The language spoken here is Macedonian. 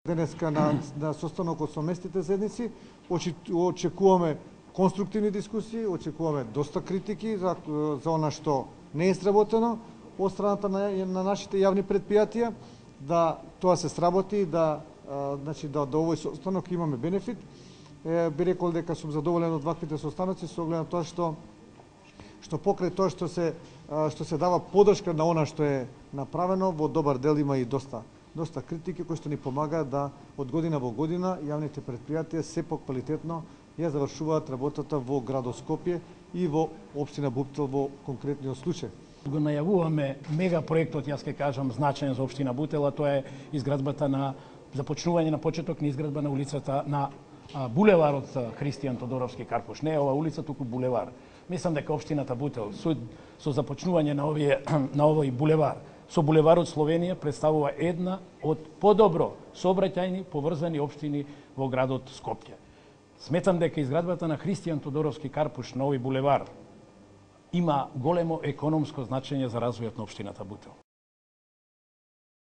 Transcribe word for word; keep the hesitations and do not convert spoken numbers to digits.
Денеска на, на состанокот со местните заедници очекуваме конструктивни дискусии, очекуваме доста критики за, за она што не е сработено од страната на, на нашите јавни предпријатија, да тоа се сработи, да а, значи да до овој состанок имаме бенефит. Е, би рекол дека сум задоволен од ваквите состаноци со оглед на тоа што што покрај тоа што се што се дава подршка на она што е направено, во добар дел има и доста доста критики кои што ни помагаат да од година во година јавните предпријатија се поквалитетно ја завршуваат работата во градот Скопје и во општина Буптел во конкретниот случај. Го најавуваме мега проектот, јас ќе кажам, значаен за општина Бутел, а тоа е изградбата на започнување на почеток на изградба на улицата на а, булеварот Христијан Тодоровски Карпуш. Не е ова улица, туку булевар. Мислам дека општината Бутел со, со започнување на овие на овој булевар со булеварот Словенија представува една од подобро сообраќајни поврзани општини во градот Скопје. Сметам дека изградбата на Христијан Тодоровски Карпуш на овој булевар има големо економско значење за развојот на општината Бутел.